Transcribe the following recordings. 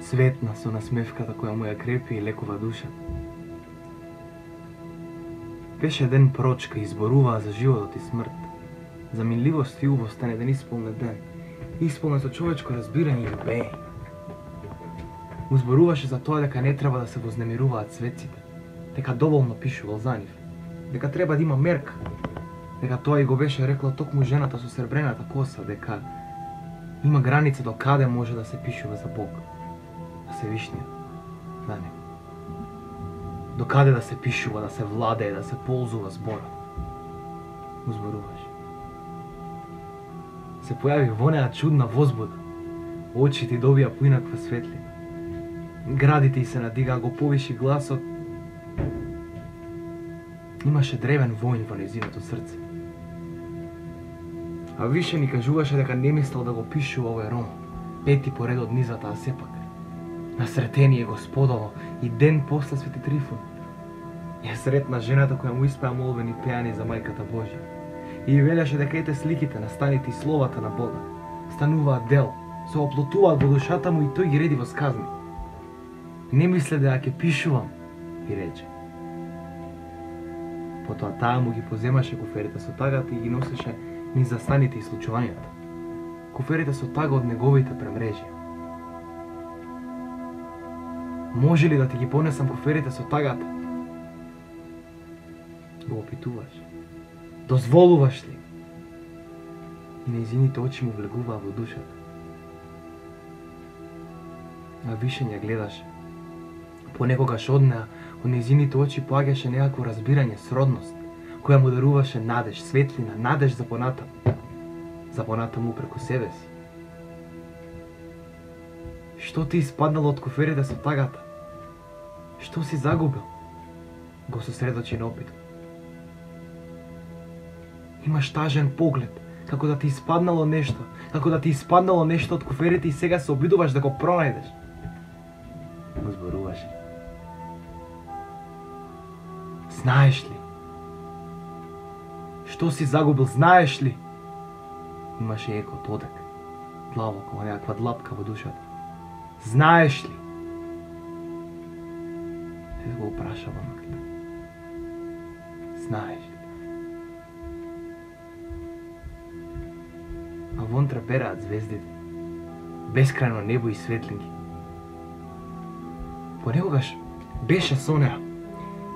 Светна со насмевката која му ја крепи и лекува душата. Беше ден прочка и изборуваа за животот и смрт, за минливост и убост на еден исполнет ден, исполнет со човечко разбирање и убење. Узборуваше за тоа дека не треба да се вознемируваат светците, дека доволно пишувал за нив, дека треба да има мерка, дека тоа и го беше рекла токму жената со сребрената коса, дека има граница до каде може да се пишува за Бог, за Севишниот, за него. До каде да се пишува, да се владее, да се ползува зборот. Узборуваше. Се појави вонеа чудна возбуда, очите добија поинаква светлина. Градите и се надига, го повиши гласот. Имаше древен воин во нејзиното срце. А више ни кажуваше дека не мислел да го пишува овој роман, пети поредот низата, а сепак насретение Господово и ден после Свети Трифун ја сретна жената која му испеа молбени пеани за Мајката Божја и велеше дека ете сликите на станите и словата на Бога стануваат дел, се оплотуваат во душата му и тој ги реди во сказни. Не мисле дека ќе пишувам, и рече. Потоа таа му ги поземаше куферите со тагата и ги носеше низ за станите и случувањата. Куферите со тага од неговите премрежија. Може ли да ти ги понесам куферите со тагата? Го опитуваш. Дозволуваш ли? И нејзините очи му влегуваа во душата. А више ја гледаше. Понекогаш од неа, од нејзините очи поаѓаше некакво разбирање, сродност, која му даруваше надеж, светлина, надеж за понатаму. За понатаму преку себе си. Што ти испаднало од куферите со тагата? Што си загубил? Го сосредочи на опитот. Имаш тажен поглед, како да ти испаднало нешто, од куферите и сега се обидуваш да го пронајдеш. Го зборуваш. Знаеш ли? Што си загубил, знаеш ли? Имаше еко тодек, длабоко, некаква длапка во душата. Знаеш ли? Те го опрашава маклета. Знаеш ли? А вон трепераат звездите, бескрајно небо и светлинки. Понекогаш беше со неа.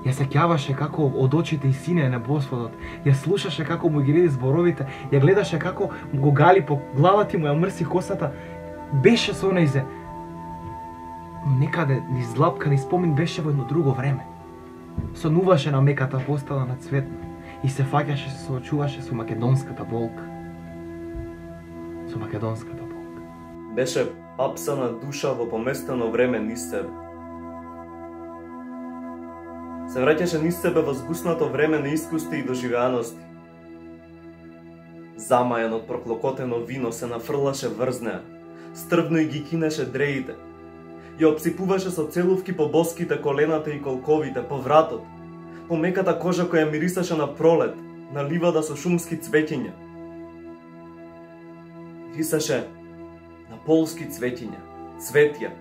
Ја сеќаваше како од очите и синеа на Господот, ја слушаше како му ги реди зборовите, ја гледаше како го гали по главата и му ја мрси косата. Беше со нејзе, но некаде низ длапка, низ спомин беше во едно друго време. Сонуваше на меката постела на Цветна и се фаќаше, се соочуваше со македонската болка. Со македонската болка. Беше апсана душа во поместено време низ себе. Се враќаше низ себе во згуснато време на искусти и доживеаности. Замајан од проклокотено вино се нафрлаше врз неа, стрвно и ги кинеше дреите. Ја обсипуваше со целувки по боските, колената и колковите, по вратот, по меката кожа која мирисаше на пролет, на ливада со шумски цвеќиња. Мирисаше на полски цвеќиња, цветја.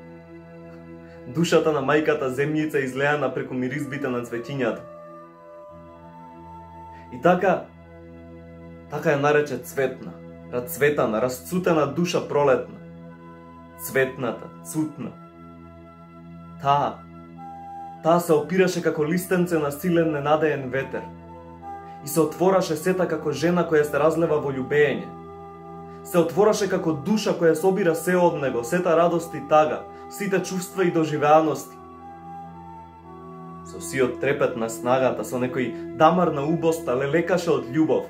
Душата на мајката земјица излеана преку миризбите на цветињата. И така ја нарече цветна, рацветана, расцутена душа пролетна. Цветната, цутна. Таа се опираше како листенце на силен ненадеен ветер и се отвораше сета како жена која се разлева во љубење. Се отвораше како душа која собира се од него, сета радост и тага, сите чувства и доживеаности. Со сиот трепет на снагата, со некој дамар на убоста, лелекаше од љубов,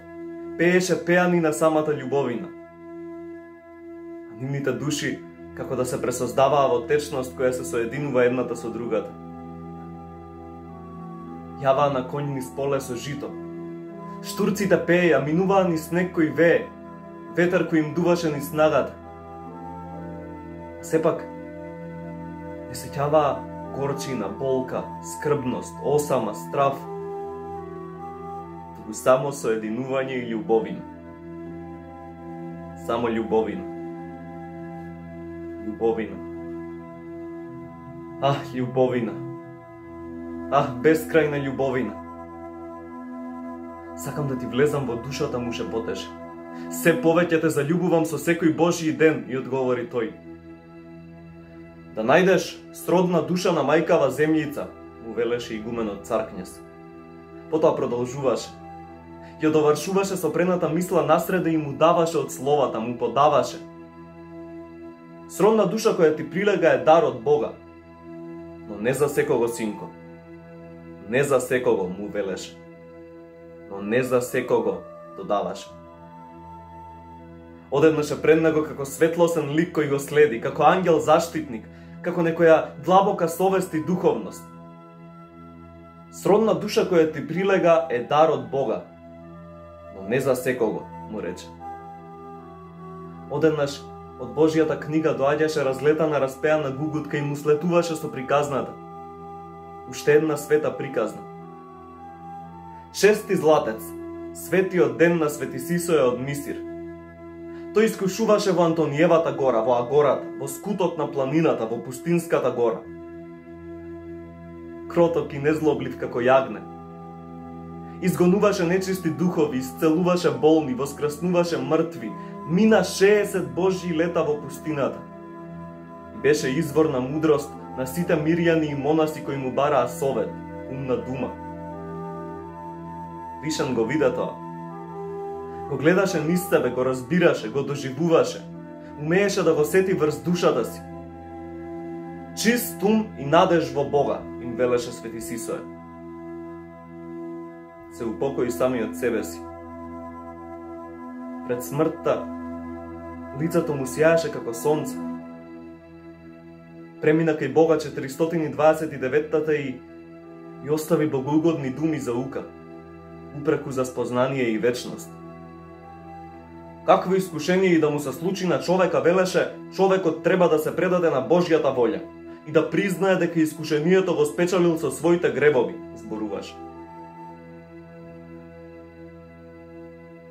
пееше пеани на самата љубовина. А нивните души како да се пресоздаваа во течност која се соединува едната со другата. Јаваа на конј низ поле со жито. Штурците пееја, минуваа низ снег кој вее, ветер кој им дуваше низ снагата. Сепак, не сеќаваа горчина, болка, скрбност, осама, страв, туку само соединување и љубовина. Само љубовина. Љубовина. Љубовина. Бескрајна љубовина. Сакам да ти влезам во душата, му шепотеше. Се повеќе те заљубувам со секој Божји ден, и одговори тој. Да најдеш сродна душа на мајкава земјица, му велеше игуменот Царкњес. Потоа продолжуваше. Ја довршуваше со прената мисла насреде и му даваше од словата, му подаваше. Сродна душа која ти прилега е дар од Бога, но не за секого, синко. Не за секого, му велеше. Но не за секого, додаваше. Одеднаше пред него како светлосен лик кој го следи, како ангел заштитник, како некоја длабока совест и духовност. Сродна душа која ти прилега е дар од Бога, но не за секого, му рече. Одеднаш од Божјата книга доаѓаше разлетана распеана гугутка и му слетуваше со приказната. Уште една света приказна. 6 златец, светиот ден на Свети Сисоја од Мисир. Тој искушуваше во Антониевата гора, во Агората, во скутот на планината, во пустинската гора. Кроток и незлоблив како јагне. Изгонуваше нечисти духови, исцелуваше болни, воскреснуваше мртви, мина 60 Божји лета во пустината. И беше извор на мудрост на сите мирјани и монаси кои му бараа совет, умна дума. Вишен го виде тоа. Го гледаше низ себе, го разбираше, го доживуваше, умееше да го сети врз душата си. Чист ум и надеж во Бога, им велеше Свети Сисоја. Се упокои самиот себе си. Пред смртта, лицето му сјаеше како сонце. Премина кај Бога 429-та и остави богоугодни думи за ука, упреку за спознание и вечност. Какво искушение и да му се случи на човека, велеше, човекот треба да се предаде на Божјата волја и да признае дека искушението го спечалил со своите гребови, зборуваше.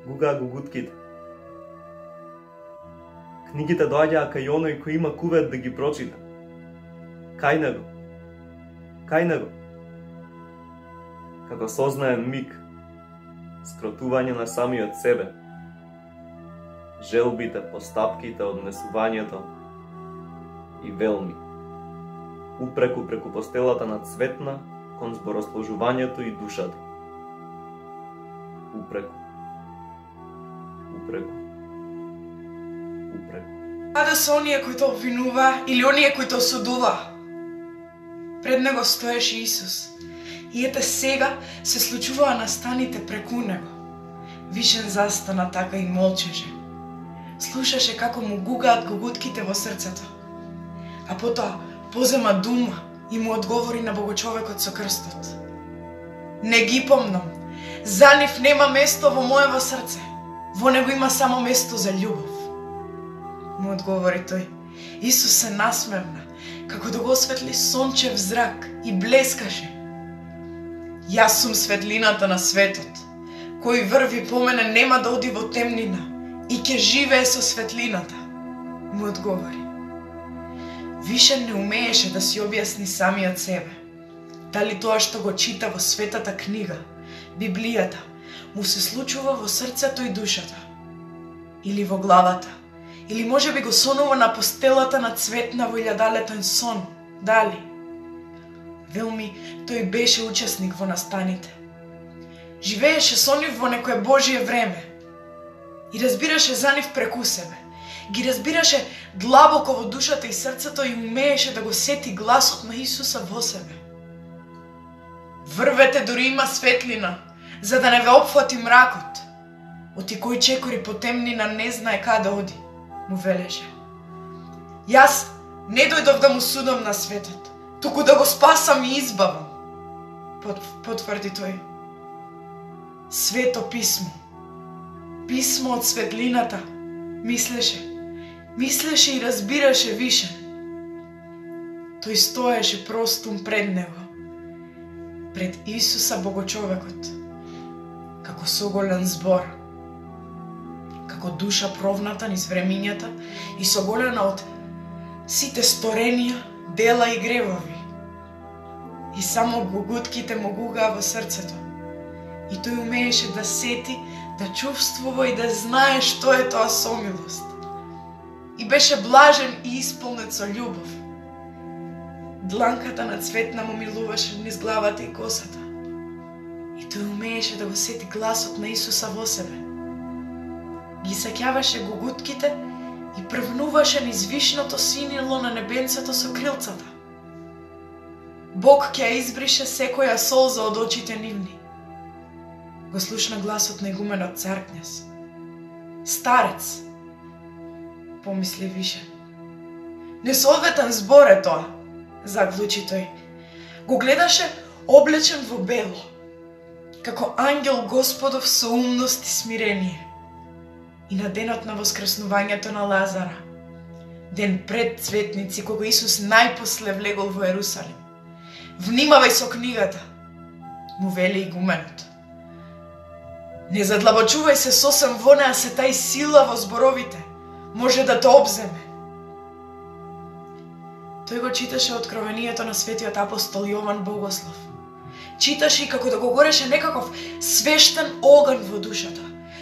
Гугаа гугутките. Книгите доаѓаа кај оној кој има кувет да ги прочита. Кај него. Кај него. Како сознаен миг, скротување на самиот себе, желбите, постапките, однесувањето и велми. Упреку преку постелата на цветна кон зборосложувањето и душата. Упреку. Упреку. Упреку. Каде се оние кои тоа обвинува или оние кои тоа осудува? Пред него стоеше Исус. И ете сега се случуваа настаните преку него. Вишен застана така и молчеше. Слушаше како му гугаат гугутките во срцето. А потоа позема дума и му одговори на богочовекот со крстот. Не ги помнам. За нив нема место во моево срце. Во него има само место за љубов. Му одговори тој. Исус се насмевна, како да го осветли сончев зрак и блескаше. Јас сум светлината на светот. Кој врви по мене нема да оди во темнина и ќе живее со светлината, му одговори. Више не умееше да си објасни самиот себе. Дали тоа што го чита во светата книга, Библијата, му се случува во срцето и душата, или во главата, или може би го сонува на постелата на цветна во илјадалетен сон, дали? Велми, тој беше учесник во настаните. Живееше со нив во некое Божие време и разбираше за нив преку себе. Ги разбираше длабоко во душата и срцето и умееше да го сети гласот на Исуса во себе. Врвете дури има светлина, за да не ве опфати мракот. Оти кој чекори по темнина не знае каде оди, му велеше. Јас не дојдов да му судам на светот, туку да го спасам и избавам, потврди тој. Свето писмо, писмо од светлината, мислеше и разбираше више. Тој стоеше простум пред него, пред Исуса Богочовекот, како соголен збор, како душа провната низ времињата и соголена од сите сторенија, дела и гревови, и само гугутките му гугаа во срцето. И тој умееше да сети, да чувствува и да знае што е тоа сомилост. И беше блажен и исполнет со љубов. Дланката на Цветна му милуваше низ главата и косата. И тој умееше да го сети гласот на Исуса во себе. Ги сеќаваше гугутките и првнуваше низ вишното синило на небенцето со крилцата. Бог ќе избрише секоја солза од очите нивни. Го слушна гласот на игуменот цар Књез. Старец, помисли Вишен. Несоодветен збор е тоа, заклучи тој. Го гледаше облечен во бело, како ангел Господов со умност и смирение. И на денот на воскреснувањето на Лазара, ден пред Цветници, кога Исус најпосле влегол во Ерусалим. Внимавај со книгата, му вели игуменот. Не задлабочувај се сосем во неа, се тај сила во зборовите, може да те обземе. Тој го читаше откровението на светиот апостол Јован Богослов. Читаше и како да го гореше некаков свештен оган во душата.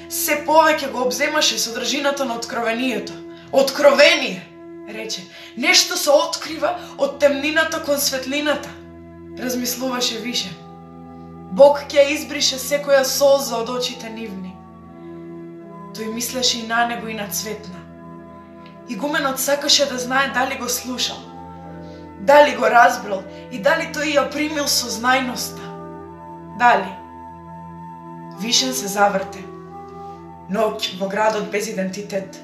Се повеќе го обземаше содржината на откровението. Откровение, рече. Нешто се открива од темнината кон светлината. Размислуваше Вишен. Бог ќе избрише секоја солза од очите нивни. Тој мислеше и на него и на Цветна. Игуменот сакаше да знае дали го слушал, дали го разбрал и дали тој ја примил со знајноста. Дали? Вишен се заврте. Ноќ во градот без идентитет.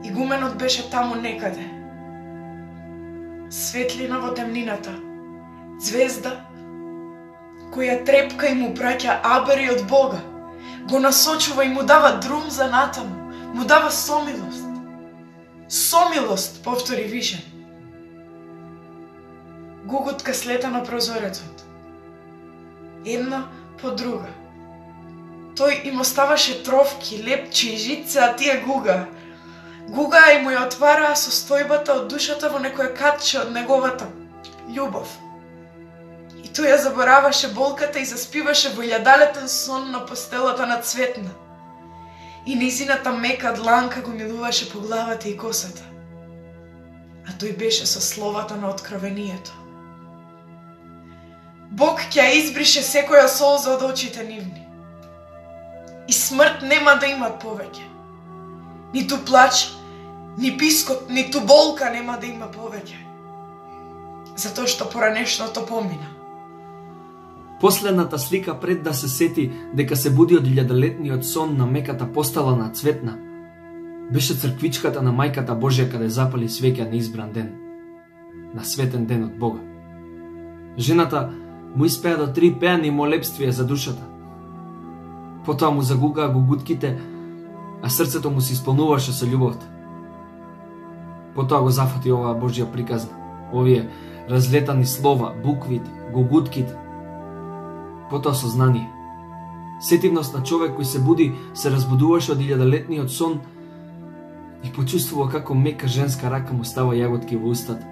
Игуменот беше таму некаде. Светлина во темнината. Звезда која трепка и му праќа абери од Бога. Го насочува и му дава друм за натаму. Му дава сомилост. Сомилост, повтори Вишен. Гугутка слета на прозорецот. Една по друга. Тој им оставаше тровки, лепчи и житце, а тие гуга. Гуга и му ја отвараа состојбата од душата во некоја катче од неговата љубов. И тој ја забораваше болката и заспиваше во јадалетен сон на постелата на Цветна. И низината мека дланка го милуваше по главата и косата. А тој беше со словата на откровението. Бог ќе избрише секоја солза од очите нивни. И смрт нема да имат повеќе. Ниту плач, ни пискот, ниту болка нема да има повеќе. Затоа што поранешното помина. Последната слика пред да се сети дека се буди од илјадолетниот сон на меката постела на Цветна, беше црквичката на Мајката Божја каде запали свеќа на избран ден, на светен ден од Бога. Жената му испеа до 3 пеани молебствија за душата. Потоа му загугаа гугутките, а срцето му се исполнуваше со љубовта. Потоа го зафати оваа Божја приказна, овие разлетани слова, буквите, гугутките. Потоа сознание. Сетивност на човек кој се буди, се разбудуваше од илјадолетниот сон и почувствува како мека женска рака му става јаготки во устата.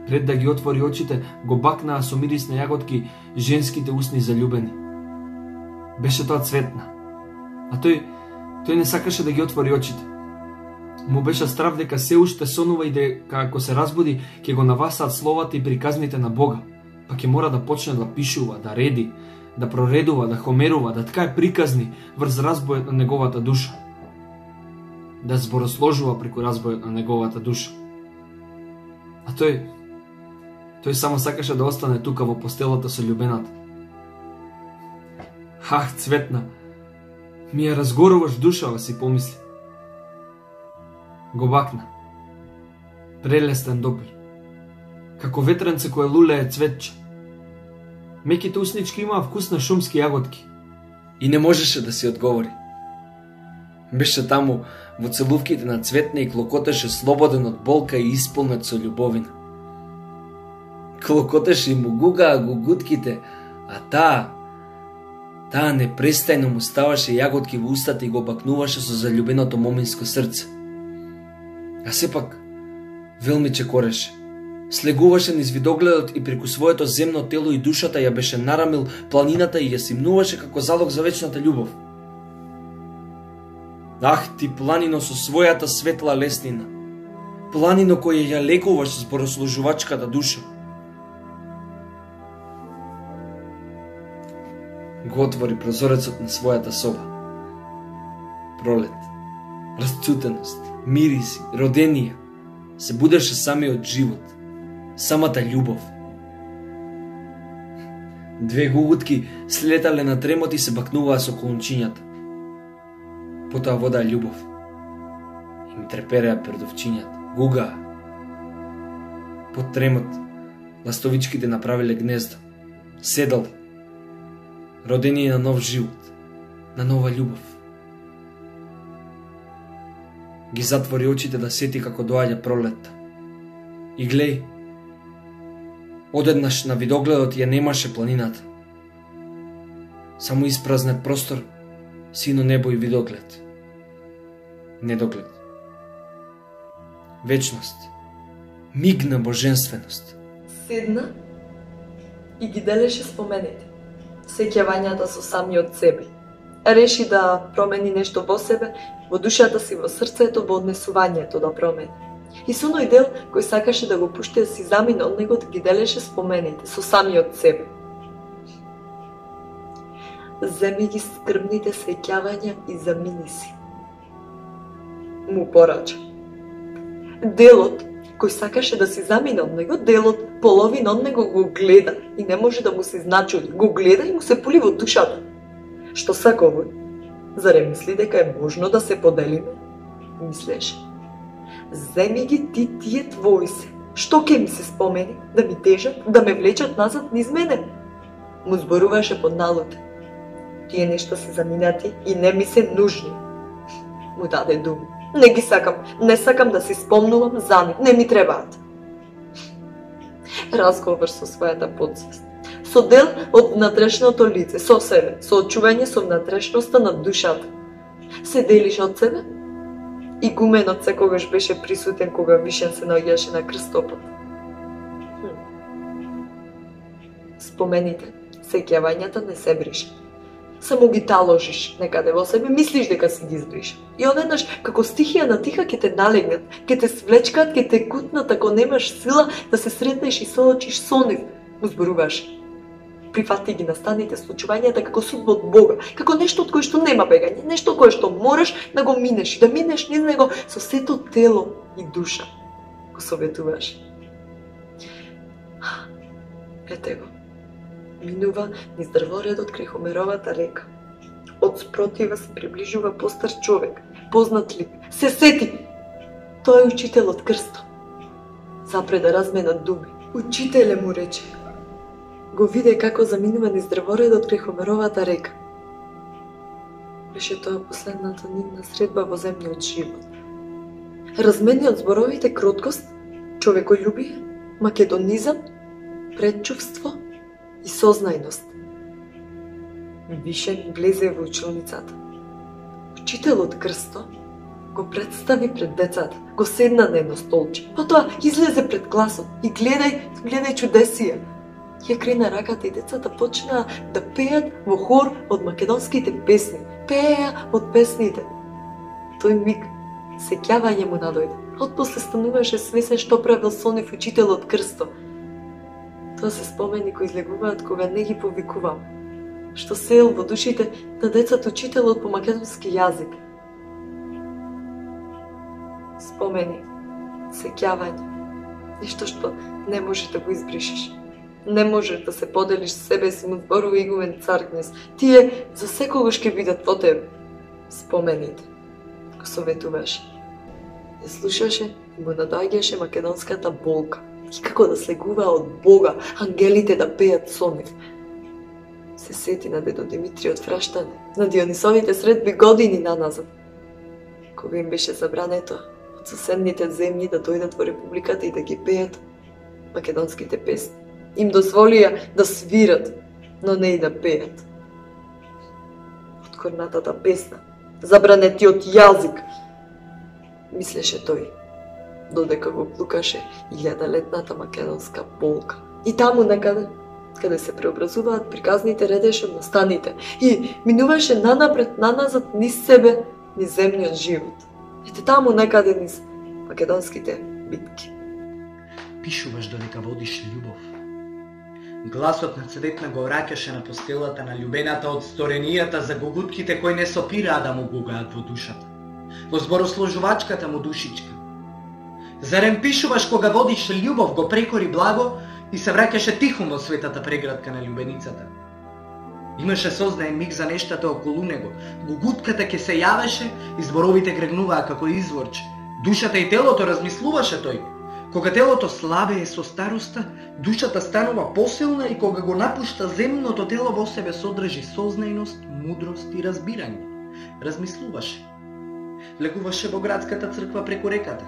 Пред да ги отвори очите, го бакнаа со мирис на јаготки женските усни заљубени. Беше тоа Цветна, а тој не сакаше да ги отвори очите. Му беше страв дека се уште сонува и дека ако се разбуди, ќе го навасаат словата и приказните на Бога, па ќе мора да почне да пишува, да реди, да проредува, да хомерува, да ткае приказни врз разбојот на неговата душа. Да зборосложува преку разбојот на неговата душа. А тој само сакаше да остане тука во постелата со љубената. Ах, Цветна, ми ја разгоруваш душава, си помисли. Го бакна. Прелестен допир. Како ветренце кое лулее цветче. Меките уснички имаа вкус на шумски јаготки. И не можеше да си одговори. Беше таму во целувките на Цветна и клокотеше слободен од болка и исполнет со љубовина. Клокотеше и му гугаа гугутките, а таа непрестајно му ставаше јаготки во устата и го бакнуваше со заљубеното моминско срце. А сепак, велми чекореше. Слегуваше низ видогледот и преку своето земно тело и душата ја беше нарамил планината и ја симнуваше како залог за вечната љубов. Ах, ти планино со својата светла леснина, планино која ја лекуваш зборослужувачката душа. Го отвори прозорецот на својата соба. Пролет, расцутеност, мириси, роденија, се будеше самиот живот, самата љубов. Две гугутки слетале на тремот и се бакнуваа со колунчињата. Потоа водаа љубов. Им трепереа пердовчињата, гугаа. Под тремот ластовичките направиле гнездо, седале, родени на нов живот, на нова љубов. Ги затвори очите да сети како доаѓа пролетта. И глеј, одеднаш на видогледот ја немаше планината. Само испразнет простор, сино небо и видоглед. Недоглед. Вечност. Миг на божественост. Седна и ги делеше спомените, сеќавањата со самиот себе. Реши да промени нешто во себе, во душата си, во срцето, во однесувањето да промени. И со оној дел кој сакаше да го пушти да си замине од него, да ги делеше спомените со самиот себе. Земи ги скрбните сеќавања и замини си. Му порача. Делот кој сакаше да си замине од него, делот половина од него го гледа и не може да му се значуди. Го гледа и му се пули во душата. Што сака овој? Заре мисли дека е можно да се поделиме? Мислеше. Земи ги ти тие твои се. Што ќе ми се спомени? Да ми тежат, да ме влечат назад низ мене? Му зборуваше под налуте. Тие нешта се заминати и не ми се нужни. Му даде думи. Не ги сакам, не сакам да си спомнувам за нив, не ми требаат. Разговор со својата подсвест. Со дел од внатрешното лице, со себе, со очување со внатрешноста на душата. Се делиш од себе и гуменот секогаш беше присутен кога Вишен се наоѓаше на крстопот. Спомените, сеќавањата не се бришат. Само ги таложиш некаде во себе, мислиш дека си ги избриш. И одеднаш, како стихија на тиха, ќе те налегнат, ќе те свлечкат, ќе те кутнат, ако немаш сила да се сретнеш и соочиш со нив. Му зборуваш. Прифати ги настаните случувањата како судба од Бога, како нешто од кое што нема бегање, нешто кое што можеш да го минеш и да минеш низ него со сето тело и душа. Го советуваш. Ете го. Минува низ дрворедот крај Хомеровата река. Од спротива се приближува постар човек, познат лик. Се сети! Тој е учителот Крсто. Запре да разменат думи. Учителе, му рече. Го виде како заминува низ дрворедот крај Хомеровата река. Беше тоа последната нивна средба во земниот живот. Размени од зборовите кроткост, човеколюбие, македонизам, предчувство и сознајност. Вишен влезе во училницата. Учителот Крсто го представи пред децата, го седна на едно столче. Потоа излезе пред класот и гледај чудесија. Ја крена раката и децата почнаа да пеат во хор од македонските песни. Пееа од песните. Тој миг сеќавање му надојде. Отпосле стануваше свесен што правил со нив учителот Крсто. Тоа се спомени кои излегуваат кога не ги повикувам. Што сеел во душите на децата учителот по македонски јазик. Спомени, сеќавање, нешто што не можеш да го избришеш. Не можеш да се поделиш себе си, му зборува игумен цар Кнез. Тие за секогаш ќе бидат во тебе. Спомените, го советуваше. Ја слушаше и му надаѓаше македонската болка. И како да слегува од Бога, ангелите да пеат со нив. Се сети на дедо Димитрий од Фраштане, на Дионисовите средби години наназад, кога им беше забрането од соседните земји да дојдат во републиката и да ги пеат македонските песни. Им дозволија да свират, но не и да пеат. Откорнатата песна, забранетиот јазик, мислеше тој. додека го плукаше 1000-летната македонска болка. И таму некаде, каде се преобразуваат приказните редеше од настаните и минуваше нанапред, наназад, низ себе, низ земниот живот. Ете таму некаде низ македонските битки. Пишуваш додека водиш љубов. Гласот на цветна го враќаше на постелата на љубената од сторенијата за гугутките кои не сопираа да му гугаат во душата, во зборосложувачката му душичка. Зарем пишуваш кога водиш љубов, го прекори благо и се враќаше тихом во светата преградка на љубеницата. Имаше сознаен миг за нештата околу него, гугутката ќе се јавеше и зборовите грегнуваа како изворче. Душата и телото размислуваше тој. Кога телото слабее со староста, душата станува посилна и кога го напушта земното тело во себе содржи сознајност, мудрост и разбирање. Размислуваше. Влегуваше во градската црква преку реката.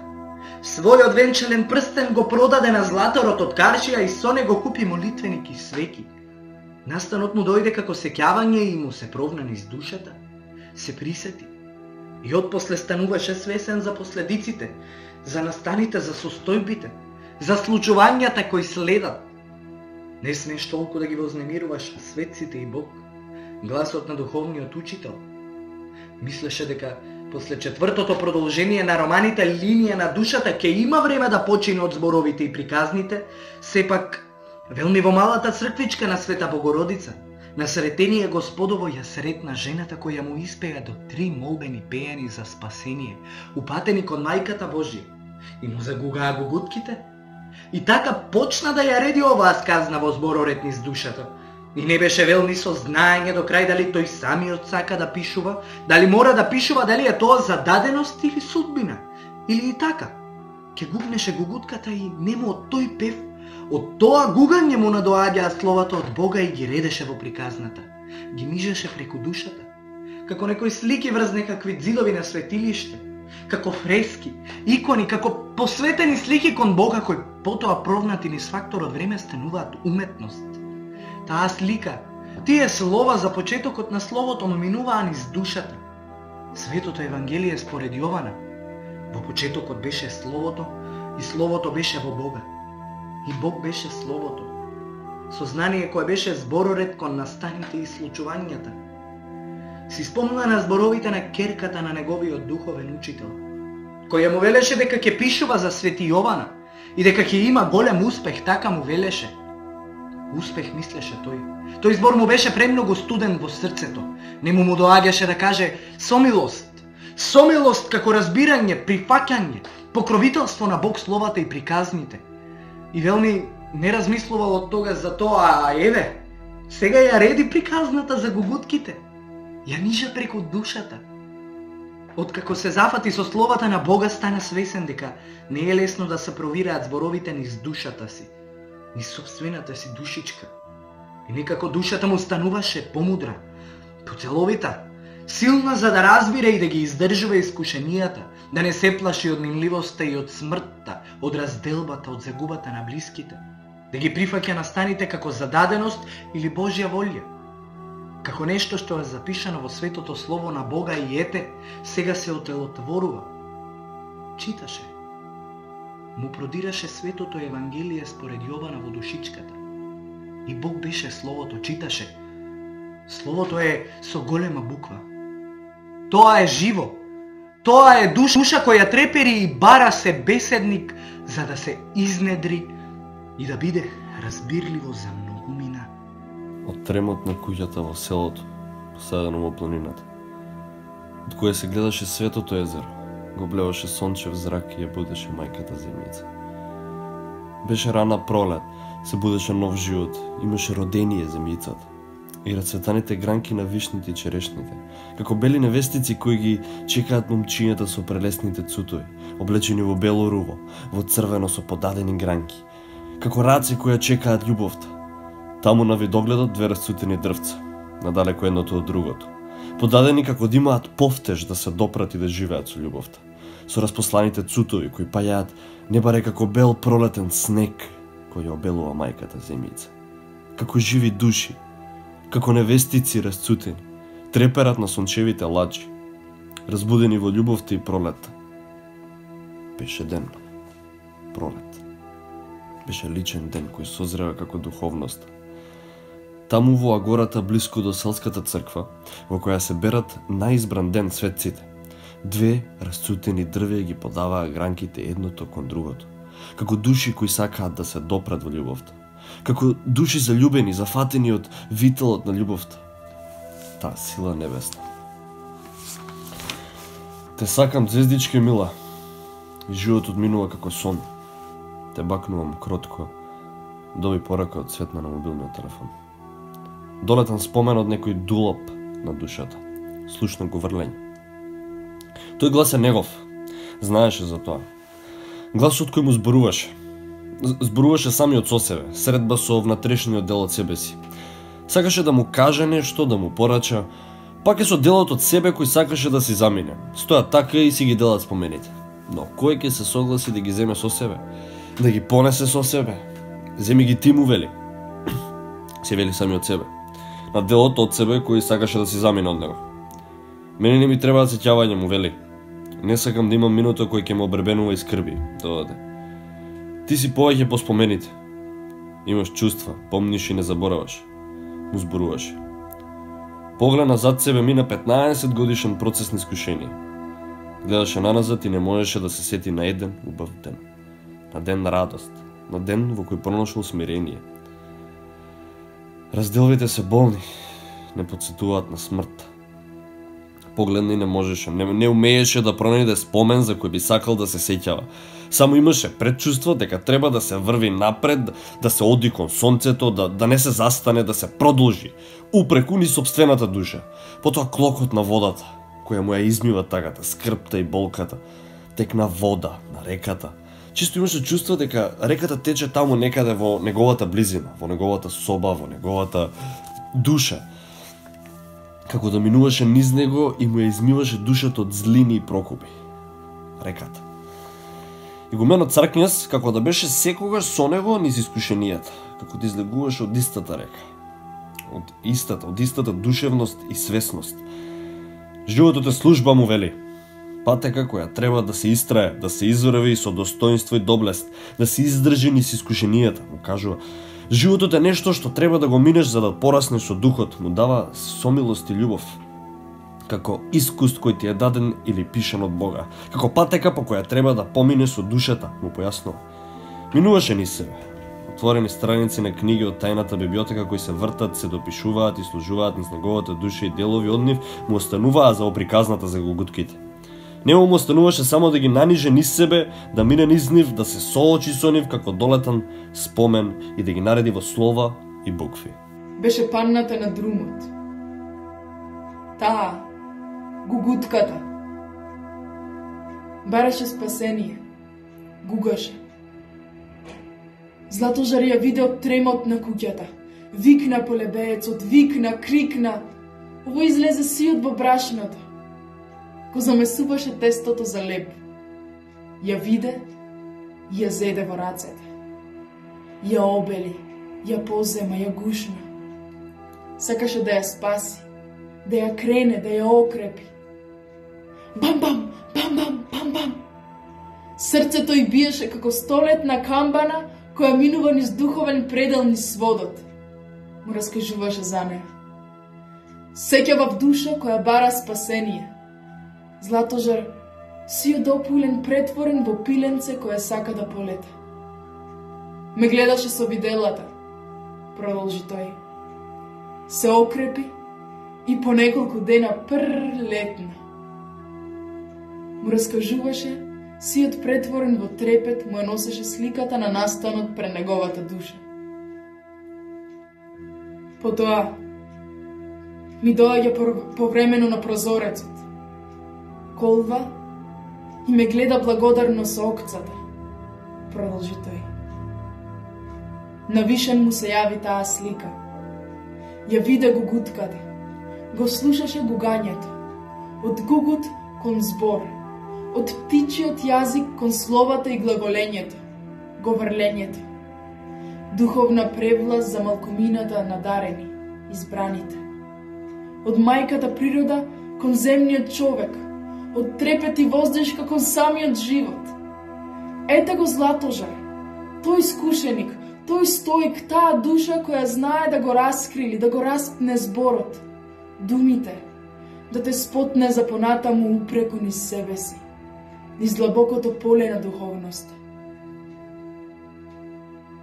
Својот венчален прстен го продаде на златорот од Каршија и со него купи молитвеник и свеки. Настанот му дојде како сеќавање и му се провна низ душата. Се присети. И отпосле стануваше свесен за последиците, за настаните, за состојбите, за случувањата кои следат. Не смееш толку да ги вознемируваш светците и Бог, гласот на духовниот учител. Мислеше дека после четвртото продолжение на романите линија на душата ќе има време да почине од зборовите и приказните, сепак велни во малата црквичка на Света Богородица, на Сретение Господово ја сретна жената која му испеа до 3 молбени пејани за спасение, упатени кон Мајката Божија, и му загугаа гугутките. И така почна да ја реди оваа сказна во збороред низ душата. И не беше велни со знаење до крај дали тој самиот сака да пишува, дали мора да пишува, дали е тоа зададеност или судбина, или и така. Ке гукнеше гугутката и нему од тој пев, од тоа гугање му надоаѓаа словата од Бога и ги редеше во приказната. Ги нижеше преку душата, како некои слики врз некакви ѕидови на светилиште, како фрески, икони, како посветени слики кон Бога кои потоа провнати низ факторот време стануваат уметност. Таа слика, тие слова за почетокот на словото му минуваа низ душата. Светото Евангелие според Јована. Во почетокот беше Словото и Словото беше во Бога. И Бог беше Словото. Сознание кое беше збороред кон настаните и случувањата. Си спомна на зборовите на керката на неговиот духовен учител, која му велеше дека ќе пишува за Свети Јована и дека ќе има голем успех, така му велеше. Успех мислеше тој. Тој збор му беше премногу студен во срцето. Не му доаѓаше да каже сомилост. Сомилост како разбирање, прифаќање, покровителство на Бог словата и приказните. И велни не размислувал од тога за тоа, а еве, сега ја реди приказната за гугутките. Ја нижа преку душата. Откако се зафати со словата на Бога, стана свесен дека не е лесно да се провираат зборовите низ душата си, низ собствената си душичка. И некако душата му стануваше помудра, поцеловита, силна за да разбира и да ги издржува искушенијата, да не се плаши од минливоста и од смртта, од разделбата, од загубата на блиските, да ги прифаќа настаните како зададеност или Божја волја, како нешто што е запишано во светото слово на Бога и ете, сега се отелотворува. Читаше. Му продираше светото Евангелие според Јована во душичката. И Бог беше Словото, читаше. Словото е со голема буква. Тоа е живо. Тоа е душа која трепери и бара се беседник за да се изнедри и да биде разбирливо за многумина. Од тремот на куќата во селото, посадено во планината, од која се гледаше светото езеро, го блеваше сончев зрак и ја будеше мајката земјица. Беше рана пролет, се будеше нов живот, имаше родение земјицата и рацветаните гранки на вишните и черешните, како бели невестици кои ги чекаат момчињата со прелесните цутови, облечени во бело руво, во црвено со подадени гранки, како раци кои чекаат љубовта. Таму на видогледот две расцутени дрвца, надалеко едното од другото, подадени како да имаат повтеж да се допрат и да живеат со љубовта, со распосланите цутови кои пајаат небаре како бел пролетен снег кој ја обелува мајката земјица. Како живи души, како невестици расцутени, треперат на сончевите ладжи, разбудени во љубовта и пролетта. Беше ден. пролет. Беше личен ден кој созрева како духовност. Таму во агората блиску до селската црква, во која се берат наизбран ден светците, две расцутени дрвја ги подаваа гранките едното кон другото, како души кои сакаат да се допрат во љубовта, како души заљубени, зафатени од вителот на љубовта, таа сила небесна. Те сакам, звездичке мила, и животот минува како сон. Те бакнувам кротко, доби порака од Цветна на мобилниот телефон. Долетан спомен од некој дулоп на душата, слушно го врлење. Тој глас е негов, знаеше за тоа. Гласот кој му зборуваше. Зборуваше самиот со себе, средба со внатрешниот дел од себе си. Сакаше да му каже нешто, да му порача, пак е со делот од себе кој сакаше да си замине. Стоја така и си ги делат спомените. Но кој ќе се согласи да ги земе со себе? Да ги понесе со себе? Земи ги ти, му вели. Се вели самиот себе. На делот од себе кој сакаше да си замине од него. Мене не ми треба сеќавање, му вели. Не сакам да имам минута кој ќе ме обребенува и скрби, додаде. Ти си повеќе по спомените. Имаш чувства, помниш и не забораваш. Му зборуваше. Погледна зад себе, мина 15 годишен процес на искушение. Гледаше наназад и не можеше да се сети на еден убав ден. На ден на радост, на ден во кој пронашол смирение. Разделвите се болни, не подсетуваат на смрт. Погледна и не можеше, не умееше да пронајде спомен за кој би сакал да се сеќава. Само имаше предчувство дека треба да се врви напред, да се оди кон сонцето, да не се застане, да се продолжи, упреку ни сопствената душа. Потоа клокот на водата, која му ја измива тагата, скрпта и болката, текна вода на реката. Чисто имаше чувство дека реката тече таму некаде во неговата близина, во неговата соба, во неговата душа. Како да минуваше низ него и му ја измиваше душата од злини и прокупи. Реката. Игуменот Цркњас, како да беше секогаш со него низ искушенијата, како да излегуваше од истата река. Од истата душевност и свесност. Животот е служба, му вели. Патека која треба да се истрае, да се изврви со достоинство и доблест, да се издржи низ искушенијата, му кажува. Животот е нешто што треба да го минеш за да пораснеш со духот, му дава сомилост и љубов. Како искуст кој ти е даден или пишан од Бога, како патека по која треба да поминеш со душата, му појаснува. Минуваше низ себе. Отворени страници на книги од тајната библиотека кои се вртат, се допишуваат и служуваат низ неговата душа и делови од нив му остануваа за оприказната за голгутките. Нему му остануваше само да ги наниже низ себе, да мине низ нив, да се соочи со нив како долетан спомен и да ги нареди во слова и букви. Беше панната на друмот. Таа, гугутката. Бараше спасение. Гугаше. Златожар ја виде од тремот на куќата. Викна полебеецот, викна, крикна. Ово излезе сиот во брашното. Го замесуваше тестото за леб. Ја виде и ја зеде во рацете. Ја обели, ја позема, ја гушна. Сакаше да ја спаси, да ја крене, да ја окрепи. Бам-бам, бам-бам, бам-бам. Срцето й биеше како столетна камбана која минува низ духовен предел низ сводот. Му раскажуваше за неја. Сеќава в душа која бара спасение. Златожар, сиот допулен претворен во пиленце кое сака да полета. Ме гледаше со виделата, продолжи тој. Се окрепи и по неколку дена летна. Му раскажуваше, сиот претворен во трепет му ја носеше сликата на настанот пред неговата душа. Потоа ми доаѓа повремено на прозорецот. Колва и ме гледа благодарно со окцата, продолжи тој. Навишен му се јави таа слика. Ја виде гугутката, го слушаше гугањето, од гугут кон збор, од птичиот јазик кон словата и глаголењето, говорлењето, духовна превласт за малкумината надарени, избраните, од мајката природа кон земниот човек, од трепет и воздишка кон самиот живот. Ете го Златожар, тој искушеник, тој стоик, таа душа која знае да го раскрили, да го распне зборот, думите, да те спотне за понатаму упреку низ себе си, низ длабокото поле на духовноста.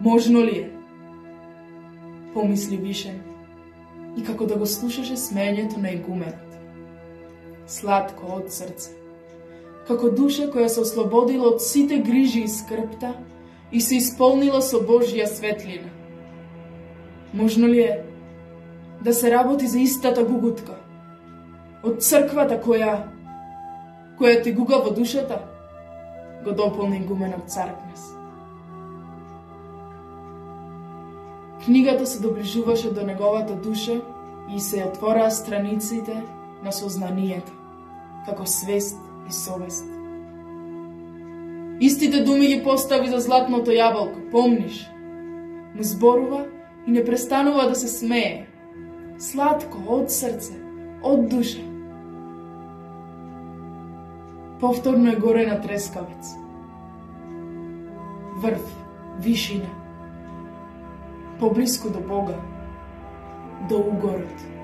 Можно ли е? Помисли Вишен, и како да го слушаше смењето на игуменот. Сладко од срце, како душа која се ослободила од сите грижи и скрпта и се исполнила со Божја светлина. Можно ли е да се работи за истата гугутка, од црквата која ти гуга во душата, го дополни игуменот Царкнес. Книгата се доближуваше до неговата душа и се отвораа страниците на сознанието, како свест и совест. Истите думи ги постави за златното јаболко, помниш? Му зборува и не престанува да се смее. Сладко, од срце, од душа. Повторно е горе на трескавец. Врв, вишина. Поблиску до Бога, до угорот.